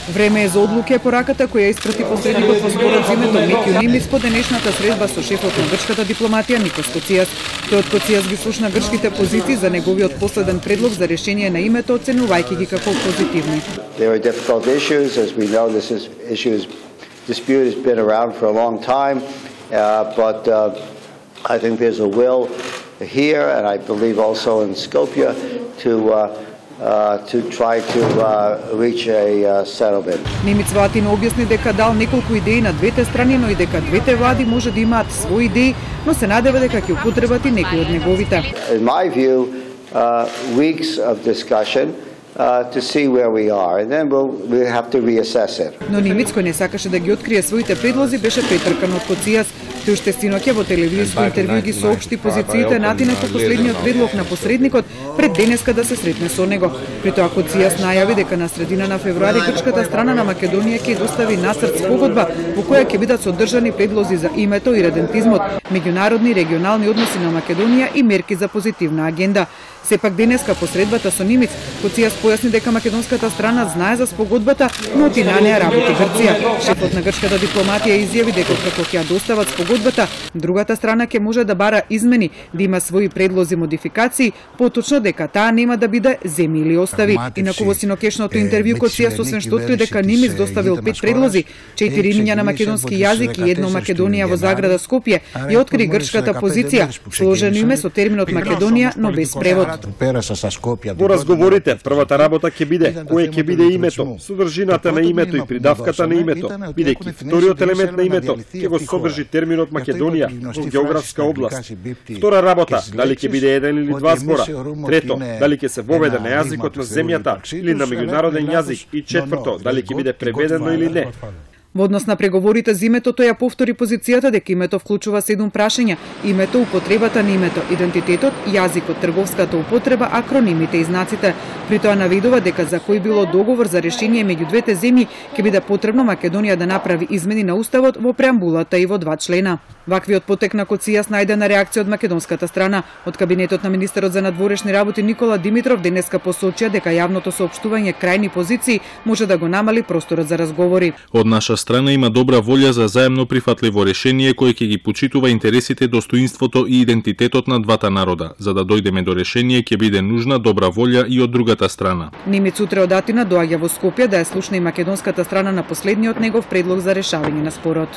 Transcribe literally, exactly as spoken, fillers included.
Време е за одлуки е пораката која испрати посредникот во спорот за името Меќу Нимиц по денешната средба со шефот на грчката дипломатија Никос Коцијас. Тој од Коцијас ги слушна грчките позиции за неговиот последен предлог за решение на името, оценувајќи ги како позитивни. There are difficult issues, as we know. This is issues dispute has been around for a long time, uh, but uh, I think there's a will here, and I believe also in Skopje, to uh, Uh, to try to uh, reach a uh, settlement. Нимиц во Атина објасни дека дал неколку идеи на двете страни, но и дека двете влади може да имаат свои идеи, но се надева дека ќе употребат и некои од неговите. In my view, uh, weeks of discussion Uh, to see where we are, and then we'll, we'll have to reassess it. Но Нимиц, кој не сакаше да ги открие своите предлози, беше претркан од Коцијас. Тој уште синоќа во телевизиско интервју ги соопшти позициите на Атина по последниот предлог на посредникот пред денеска да се сретне со него. При тоа Коцијас најави дека на средина на февруари грчката страна на Македонија ќе достави нацрт спогодба во која ќе бидат содржани предлози за името и редентизмот, меѓународни и регионални односи на Македонија и мерки за позитивна агенда. Сепак денеска по средбата со Нимиц, Коцијас појасни дека македонската страна знае за спогодбата, но од на неа работи Грција. Шефот на грчката дипломатија изјави дека како ќе ја достават спогодбата, другата страна ќе може да бара измени, да има своји предлози модификации, поточно дека таа нема да биде земи или остави. Инаку во синокешното интервју Коцијас освен што откри дека Нимиц доставил пет предлози, четири имиња на македонски јазик и едно Македонија во заграда Скопје, и откри грчката позиција, сложено име со терминот Македонија, но без превод. Во разговорите, првата работа ќе биде кое ќе биде името, содржината на името и придавката на името, бидејќи вториот елемент на името ќе го содржи терминот Македонија во географска област. Втора работа, дали ќе биде еден или два збора. Трето, дали ќе се воведе на јазикот на земјата или на меѓународен јазик. И четврто, дали ќе биде преведено или не. Во однос на преговорите за името, тој ја повтори позицијата дека името вклучува седум прашања: името, употребата на името, идентитетот, јазикот, трговската употреба, акронимите и знаците. При тоа наведува дека за кој било договор за решение меѓу двете земји ќе биде потребно Македонија да направи измени на уставот во преамбулата и во два члена. Ваквиот потек на Коцијас најде на реакција од македонската страна. Од кабинетот на министерот за надворешни работи Никола Димитров денеска посочија дека јавното соопштување крајни позиции може да го намали просторот за разговори. Од наша страна има добра волја за заемно прифатливо решение кој ќе ги почитува интересите, достоинството и идентитетот на двата народа. За да дојдеме до решение ќе биде нужна добра волја и од другата страна. Нимиц утре од Атина доаѓа во Скопје да ја слушне и македонската страна на последниот негов предлог за решавање на спорот.